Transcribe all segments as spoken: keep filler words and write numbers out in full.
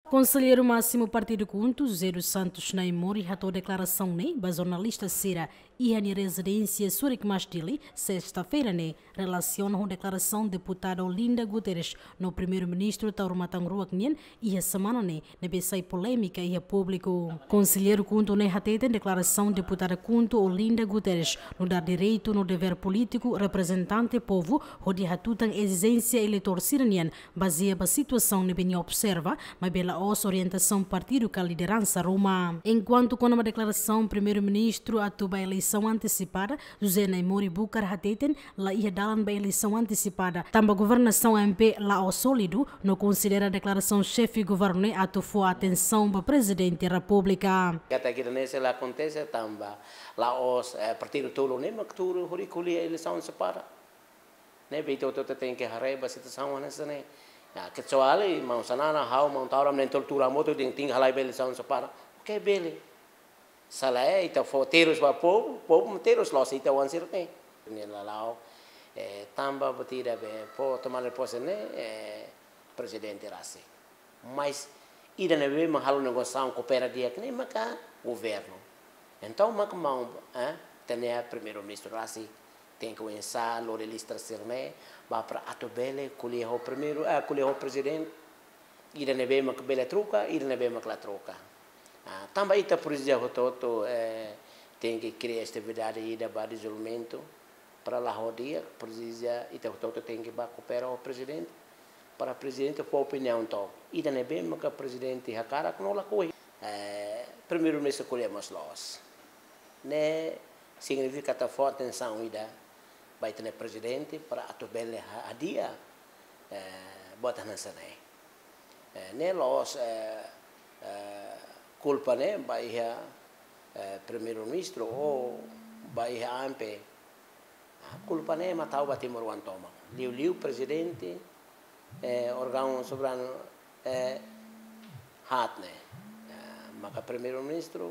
Konselleiru Másimu Partidu KHUNTO, José dos Santos Naimori, hato'o deklarasaun ne'e ba jornalista sira iha nia rezidénsia Surikmas, Dili, sesta-feira ne'e, relasiona ho deklarasaun deputada Olinda Guterres no Primeiru-Ministru Taur Matan Ruak nian iha semana ne'e, ne'ebé sai polémika iha públiku. Konselleiru KHUNTO ne'e hateten deklarasaun deputada KHUNTO Olinda Guterres nu'udar direitu no devér polítiku reprezentante povu hodi hatutan ezijénsia eleitór sira-nian bazeia ba situasaun ne'ebé nia observa, maibé la'ós orientasaun partidu ka lideransa ruma. Enkuantu kona-ba deklarasaun Primeiru-Ministru atu ba eleisaun antesipada, José Naimori Bucar hateten laiha dalan ba eleisaun antesipada, tanba governasaun A M P la'ós sólidu, no konsidera deklarasaun xefe governu ne'e atu fó atensaun ba Prezidente Repúblika. Katak ida-ne'e sei la akontese tanba la'ós, eh, partidu tolu ne'e mak tuur hodi ko'alia eleisaun antesipada. Ne'ebé ita hotu-hotu tenke haree ba situasaun hanesan ne'e. Ya, kecuali maun Xanana, ha'u, maun Taur, ami na'in-tolu tuur hamutuk dehan tenke halai ba eleisaun antesipada. Oke, bele. Se lae, ita fó terus ba povu, povu terus loos ita-nia sira ne'e. Ne'e la la'o, eh, tanba buat ida be fó tomada de pose ne'e, eh, prezidente rasik. Mas ida ne'ebé mak halo negosiasaun koopera di'ak ne'e maka governu. Entaun maka maun, eh, ita-nia Primeiru-Ministru rasik tenke oinsá lori lista sira ne'e ba para atu bele ko'alia ho primeiru, eh, ko'alia ho prezidente. Ida ne'ebé mak bele troka, ida ne'ebé mak la troka. Ah, tanba ita presiza hotu-hotu, eh, tenke kria estabilidade ida ba dezenvolvimentu. Para la'o di'ak, presiza ita hotu-hotu tenke ba koopera ho prezidente. Para prezidente fó opiniaun to'ok. Ida ne'ebé maka prezidente hakarak no lakohi. Eh, Primeiru-Ministru ko'alia mós loos. Ne'e signifika atu fó atensaun ida ba ita-nia prezidente para atu bele ha-, hadi'a, eh, buat hanesan ne'e. Eh, ne'e la'ós, eh, eh, kulpa ne'e ba iha, eh, Primeiru-Ministru ou ba iha A M P. Ah, kulpa ne'e mak tau ba timoroan tomak. Liuliu prezidente, eh, órgaun soberanu, eh, haat ne'e. Eh, maka Primeiru-Ministru,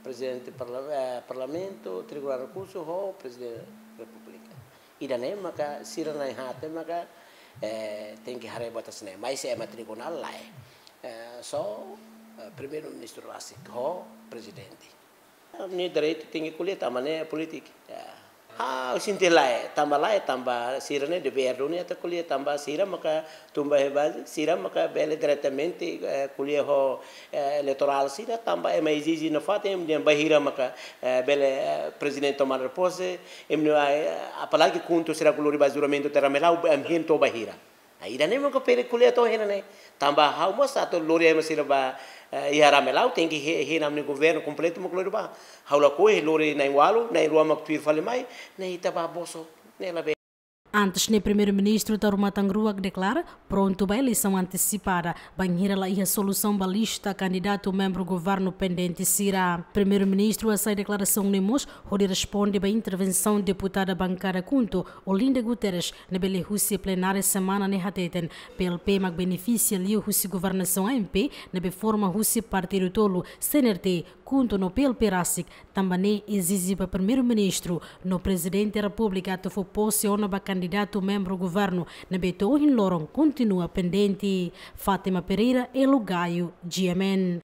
Prezidente Parla-, eh, Parlamentu, Tribunál Rekursu ho Prezidente Repúblika. Ida-ne'e maka sira na'in-haat ne'e maka, eh, tenke haree buat hanesan ne'e. Mas ema tribunál lae. Eh, só, eh, Primeiru-Ministru rasik ho prezidente. Ne'e direitu tenke ko'alia tanba ne'e polítika. Ya. Ha, sente lae, tanba lae, tanba sira ne'e devér duni atu ko'alia tanba sira maka tun ba iha baze, sira maka bele diretamente, eh, ko'alia ho, eh, eleitorál sira, tanba ema ezije nafatin, ema dehan bainhira maka, eh, bele, eh, prezidente tomada de pose, ema, eh, apalagi KHUNTO sira ko'alia ba juramentu terra melau, ema hein to'o bainhira. Ah, ida-ne'e maka bele ko'alia to'o iha ne'e. Tanba ha'u mós atu lori ema sira ba, eh, iha Ramelau, tenke hein, hein ami-nia governu kompletu mak lori ba. Ha'u lakohi lori na'in-ualu, na'in-rua mak tuir fali mai, ne'e ita ba bosok, ne'e labele. Antes ne'e Primeiru-Ministru Taur Matan Ruak deklara prontu ba eleisaun antesipada, bainhira laiha solusaun ba lista kandidatu membru governu pendente sira. Primeiru-Ministru hasai deklarasaun ne'e mós hodi responde ba intervensaun deputada bankada KHUNTO, Olinda Guterres, ne'ebé lee husi plenária semana ne'e hateten, P L P mak benefisia liu husi governasaun A M P, ne'ebé forma husi partidu tolu, C N R T, KHUNTO no P L P rasik, tanba ne'e ezije ba Primeiru-Ministru no Prezidente Repúblika atu fó pose ona ba kandidatu membru governu, ne'ebé to'o ohin loron kontinua pendente. Fátima Pereira, Elo Gaio, G M N.